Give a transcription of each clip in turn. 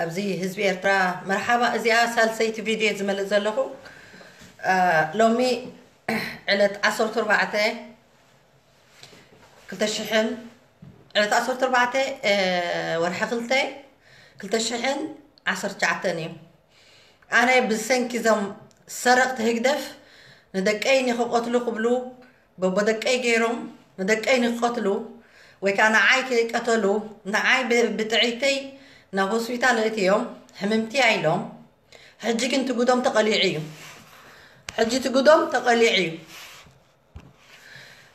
ኣብዚ ህዝቢ ኤርትራ መርሓባ። እዚኣ ሳልሰይቲ ቪድዮ ዝመልእ ዘለኹ ሎሚ ዕለት ዓሰርተ ኣርባዕተ ክልተ ሽሕን ዕለት ዓሰርተ ኣርባዕተ ወርሒ ክልተ ክልተ ሽሕን ዓሰርተ ትሽዓተን እዩ። ኣነ ብሰንኪ ዞም ሰረቕቲ ህግደፍ ንደቀይ ንክቐትሉ ክብሉ በቦ ደቀይ ገይሮም ንደቀይ ንክቐትሉ ወይ ከዓ ንዓይ ክቀተሉ ንዓይ ብጥዒተይ ናብ ሆስፒታል እእትዮም ሕምምቲ ኢሎም። ሕጂ ግን ትጉዶም ተቐሊዑ እዩ። ሕጂ ትጉዶም ተቐሊዑ እዩ።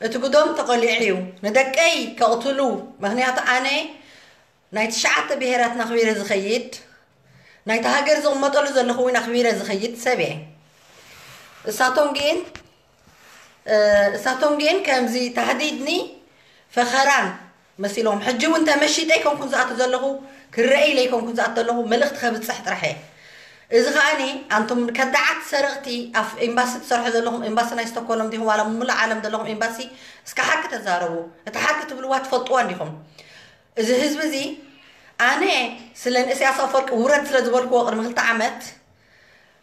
እቲ ጉዶም ተቐሊዑ እዩ። ንደቀይ ከቕትሉ ምክንያቱ ኣነ ናይ ትሽዓተ ብሄራት ናኽቢረ ዝኸይድ ናይቲ ሃገር ዝቕመጠሉ ዘለኹ እውን ኣኽቢረ ዝኸይድ ሰብ እየ። እሳቶም ግን እሳቶም ግን ከምዚ ታህዲድኒ ፈኸራን መሲሎም ሕጂ እውን ተመሺጠ ይኮንኩን ዝኣቱ ዘለኹ ክረአ ኢለ ይኮንኩን ዝኣቱ ዘለኹ መልእኽቲ ከብፅሕ ጥራሕ እየ። እዚ ከዓኒ ኣንቱም ከዳዓት ሰረቕቲ ኣብ ኤምባሲ ትሰርሑ ዘለኹም ኤምባሲ ናይ ስቶኮሎም ዲኹም ዋላ ሙሉእ ዓለም ዘለኹም ኤምባሲ እስከ ሓቂ ተዛረቡ። እቲ ሓቂ ትብልዋ ትፈልጥዋ እንዲኹም። እዚ ህዝቢ እዚ ኣነ ስለ ንእስያስ ኣፈወርቂ ውረድ ስለ ዝበልክዎ ቅድሚ ክልተ ዓመት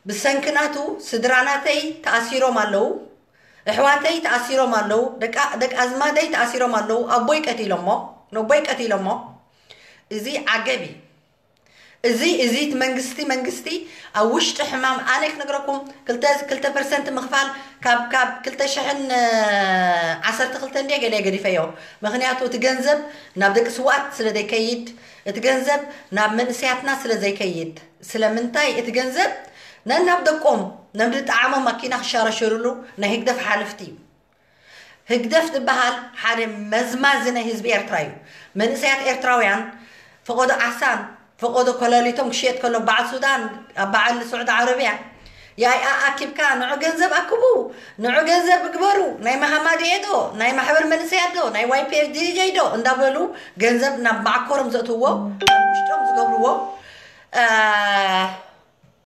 ብሰንኪ ናቱ ስድራ ናተይ ተኣሲሮም ኣለዉ። ኣሕዋተይ ተኣሲሮም ኣለዉ። ደቂ ኣዝማደይ ተኣሲሮም ኣለዉ። ኣቦይ ቀቲሎሞ ነቦይ ቀቲሎሞ። እዚ ዓገብ እዩ። እዚ እዚ መንግስቲ መንግስቲ ኣብ ውሽጢ ሕማም ኣነ ክነግረኩም ክልተ ክልተ ፐርሰንት ምኽፋል ካብ ካብ ክልተ ሽሕን ዓሰርተ ክልተ እንደ ገለ ገዲፈዮ። ምክንያቱ እቲ ገንዘብ ናብ ደቂ ስውኣት ስለ ዘይከይድ እቲ ገንዘብ ናብ መንእሰያትና ስለ ዘይከይድ ስለምንታይ እቲ ገንዘብ ነናብ ደቆም ነምድጣዓሞም ማኪና ክሻረሸሩሉ ናይ ህግደፍ ሓለፍቲ እዩ። ህግደፍ ዝበሃል ሓደ መዝማዚ ናይ ህዝቢ ኤርትራ እዩ። መንእሰያት ኤርትራውያን ፈቐዶ ዓሳን ፈቐዶ ኮለሊቶም ክሽየጥ ከሎ በዓል ሱዳን ኣብ በዓል ስዑዲ ዓረብያ ያይ ኣኪብካ ንዑ ገንዘብ ኣክቡ ንዑ ገንዘብ ግበሩ ናይ መሃማድኤ ዶ ናይ ማሕበር መንእሰያት ዶ ናይ ዋይፒኤፍ ዲጀይ ዶ እንዳበሉ ገንዘብ ናብ ማዕኮሮም ዘእትዎ ውሽጦም ዝገብርዎ